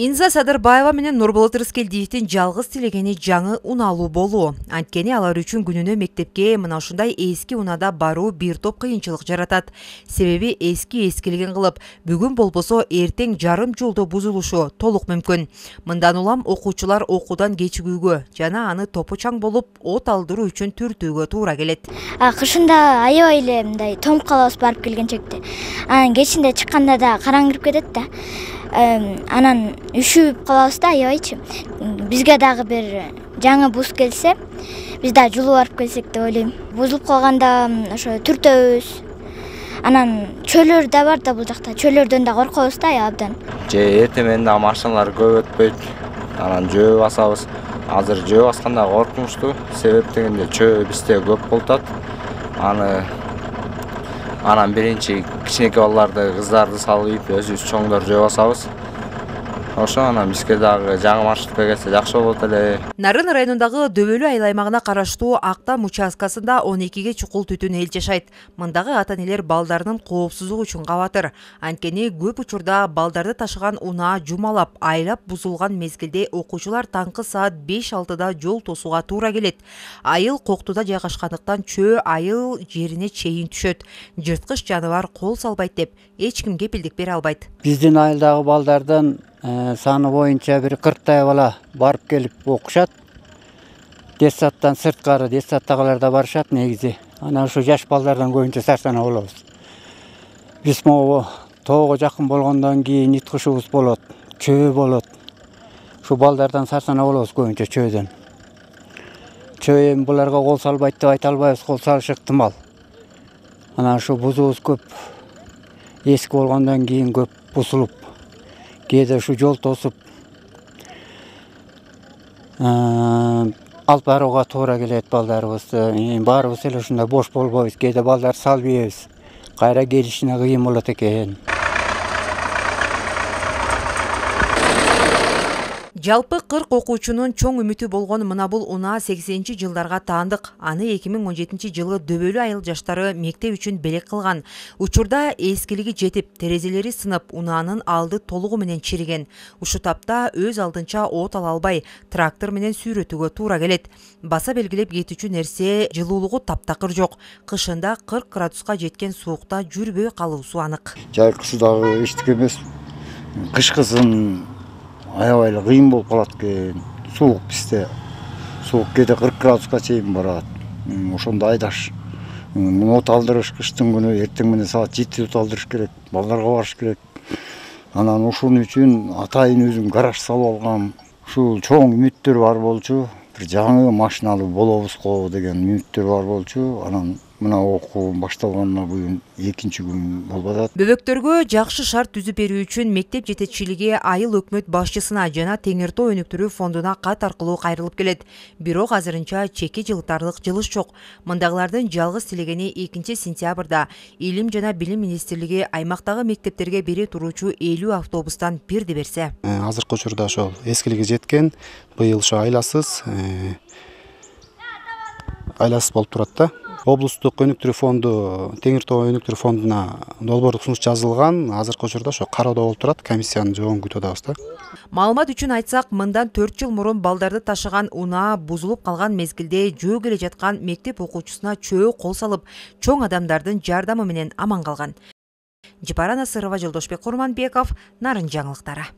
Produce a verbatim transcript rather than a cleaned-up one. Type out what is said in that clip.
Инза Садырбаева менен Нурболот Рыскелдиевдин жалгыз тилегени жаңы унаалуу болуу. Анткени алар үчүн күнүнө мектепке мына ушундай эски унада баруу бир топ кыйынчылык жаратат. Себеби эски эскилигин кылып, бүгүн болбосо эртең жарым жолдо бузулушу толук мүмкүн. Мындан улам окуучулар окуудан кечигүүгө жана аны топочаң болуп от алдыруу үчүн түртүүгө туура келет. Кышында аябай эле мындай тоңуп калабыз барып келгенчекте. Анан кечинде чыкканда да караң кирип кетет да. Анан үшүп калабыз да аябайчы. Бизге дагы бир жаңы буз келсе, биз да жулуп барып келсек деп ойлойм. Бузулуп калганда ошо түртөбүз. Анан чөйлөр да бар да бул жакта. Чөйлөрдөн да коркобуз да абдан. Же эртең менен да машиналар көп өтпөйт. Анан жөө басабыз. Азыр жөө басканда коркунучтуу. Себеп дегенде чөө бизде көп болот. Аны Анан биринчи кичинекей балдарды, кыздарды салып, өзүбүз чоңдор жөө басабыз. Ошо анан бизге дагы жаңы маршрутка келсе жакшы болот эле. Нарын районундагы Дөбөлүү айыл аймагына караштуу Актам участкасында он экиге чукул түтүн эл жашайт. Мындагы ата-энелер балдарынын коопсуздугу үчүн кабатыр. Анткени көп учурда балдарды ташыган унаа жумалап, айлап бузулган мезгилде окуучулар таңкы саат беш алтыда жол тосууга туура келет. Айыл коктуда жайгашкандыктан чөө айыл жерине чейин түшөт. Жырткыч жаныбар кол салбайт деп эч ким кепилдик бере албайт. Биздин айылдагы балдардын саны боюнча бир кырктай бала барып келип окушат. Детсадтан сырткары детсадтагылар да барышат негизи. Анан ушу жаш балдардан көбүнчө сарсанаа болобуз. Биз могу тоого жакын болгондон кийин ит кушубуз болот, чөө болот. Ушу балдардан сарсанаа болобуз көбүнчө чөөдөн. Чөө эми буларга кол салбайт деп айта албайбыз, кол салышы ыктымал. Анан ушу бузубуз көп эски болгондон кийин көп бузулуп, кээде ушу жол тосуп алып барууга туура келет балдарыбызды. Баарыбыз эле ушундай бош болбойбуз. Кээде балдарды салып ийебиз. Кайра келишине кыйын болот экен. Жалпы кырк окуучунун чоң үмүтү болгон мына бул унаа сексенинчи жылдарга таандык. Аны эки миң он жетинчи жылы Дөбөлүү айыл жаштары мектеп үчүн белек кылган. Учурда эскилиги жетип, терезелери сынып, унаанын алды толугу менен чириген. Ушу тапта өз алдынча от ала албай, трактор менен сүйрөтүүгө туура келет. Баса белгилеп кетүүчү нерсе жылуулугу таптакыр жок. Кышында кырк градуска жеткен суукта жүрбөй калуусу анык. Жайкысы дагы эчтик эмес. Кышкысын аябай эле кыйын болуп калат экен. Суук бизде. Суук кээде кырк градуска чейин барат. Ошондо айдаш. От алдырыш кыштын күнү эртең менен саат жетиде от алдырыш керек. Балдарга барыш керек. Анан ушун үчүн атайын өзүм гараж салып алгам. Ушул чоң үмүттөр бар болчу. Бир жаңы машиналуу болобуз го деген үмүттөр бар болчу. Анан мына окуу башталганына бүгүн экинчи күн болуп атат. Бөбөктөргө жакшы шарт түзүп берүү үчүн мектеп жетекчилиги айыл өкмөт башчысына жана Теңир Тоо өнүктүрүү фондуна кат аркылуу кайрылып келет. Бирок азырынча чеки жылтарлык жылыш жок. Мындагылардын жалгыз тилегени экинчи сентябрда Илим жана Билим министрлиги аймактагы мектептерге бере туруучу элүү автобустан бирди берсе. Азыркы учурда ошол эскилиги жеткен, быйыл ошо айласыз айласыз болуп турат да. Облустук өнүктүрүү фонду, Теңир Тоо өнүктүрүү фондуна долбоорлук сунуш жазылган. Азыркы учурда ошо кароодо болуп турат. Комиссиянын жообун күтүп атабыз да. Маалымат үчүн айтсак, мындан төрт жыл мурун балдарды ташыган унаа бузулуп калган мезгилде жөө келе жаткан мектеп окуучусуна чөө кол салып, чоң адамдардын жардамы менен аман калган. Жапара Насырова, Жолдошбек Курманбеков, Нарын жаңылыктары.